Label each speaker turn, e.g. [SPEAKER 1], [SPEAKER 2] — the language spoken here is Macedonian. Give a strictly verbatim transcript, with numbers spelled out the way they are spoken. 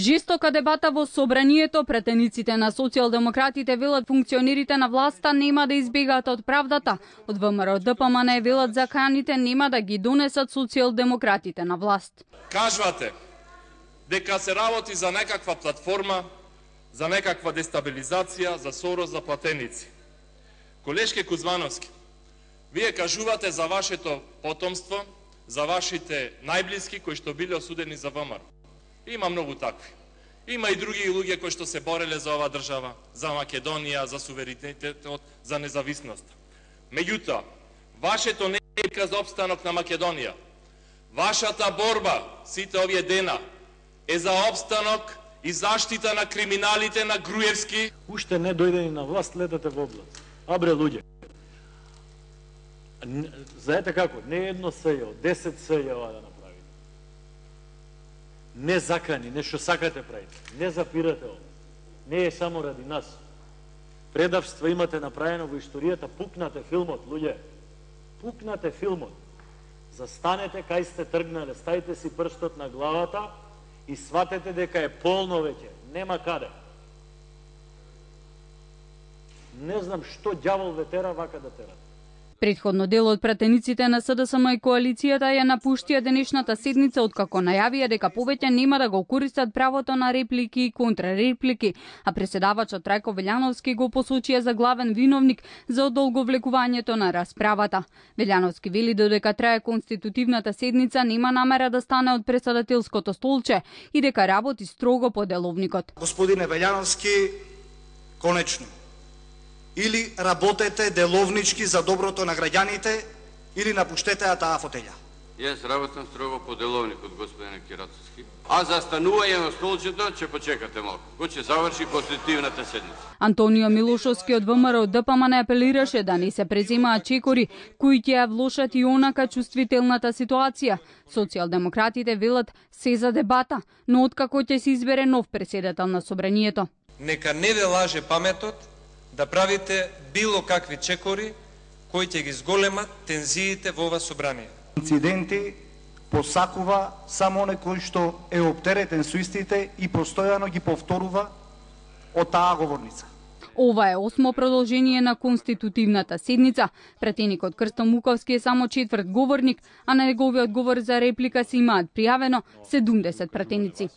[SPEAKER 1] Жестока дебата во собранието, претениците на социјалдемократите велат функционерите на власта нема да избегаат од правдата. Од ВМРО Д П М Н велат заканите нема да ги донесат социјалдемократите на власт.
[SPEAKER 2] Кажувате дека се работи за некаква платформа, за некаква дестабилизација, за Сорос, за платеници. Колешке Кузвановски, вие кажувате за вашето потомство, за вашите најблиски кои што биле осудени за ВМРО. Има многу такви. Има и други луѓе кои што се бореле за оваа држава, за Македонија, за суверенитетот, за независност. Меѓутоа, вашето не е битка за опстанок на Македонија. Вашата борба сите овие дена е за опстанок и заштита на криминалите на Груевски.
[SPEAKER 3] Уште не дојдени на власт, летате во област. Абре луѓе. Знаете како? Не едно сејо, десет сејава да направите. Не закани, не што сакате правите. Не запирате ова. Не е само ради нас. Предавство имате направено во историјата, пукнате филмот, луѓе. Пукнате филмот. Застанете кај сте тргнале, ставите си прстот на главата и сватете дека е полно веќе. Нема каде. Не знам што ѓавол ве тера вака да терате.
[SPEAKER 1] Предходно дел од пратениците на С Д С М и коалицијата ја напуштија денешната седница откако најавија дека повеќе нема да го користат правото на реплики и контрареплики, а преседавачот Трајко Велјановски го посочија за главен виновник за одолговлекувањето на расправата. Велјановски вели додека трае конститутивната седница нема намера да стане од претседателското столче и дека работи строго по деловникот.
[SPEAKER 4] Господине Велјановски, конечно, или работете деловнички за доброто на граѓаните, или напуштете таа фотеља.
[SPEAKER 5] Јас работам строго по деловникот, господине Кирацовски. А за станување на столчето ќе почекате малку. Кој ќе заврши конститутивната седница.
[SPEAKER 1] Антонио Милошовски од В М R Д П М Н апелираше да не се преземаат чекори кои ќе ја влошат и онака чувствителната ситуација. Социјалдемократите велат се за дебата, но откако ќе се избере нов претседател на собранието.
[SPEAKER 6] Нека не ве лаже паметот да правите било какви чекори кои ќе ги зголемат тензиите во ова собрание.
[SPEAKER 4] Инциденти посакува само некој што е оптеретен со истите и постојано ги повторува од таа говорница.
[SPEAKER 1] Ова е осмо продолжение на конститутивната седница. Пратеникот Крсто Муковски е само четврт говорник, а на неговиот говор за реплика се имаат пријавено седумдесет пратеници.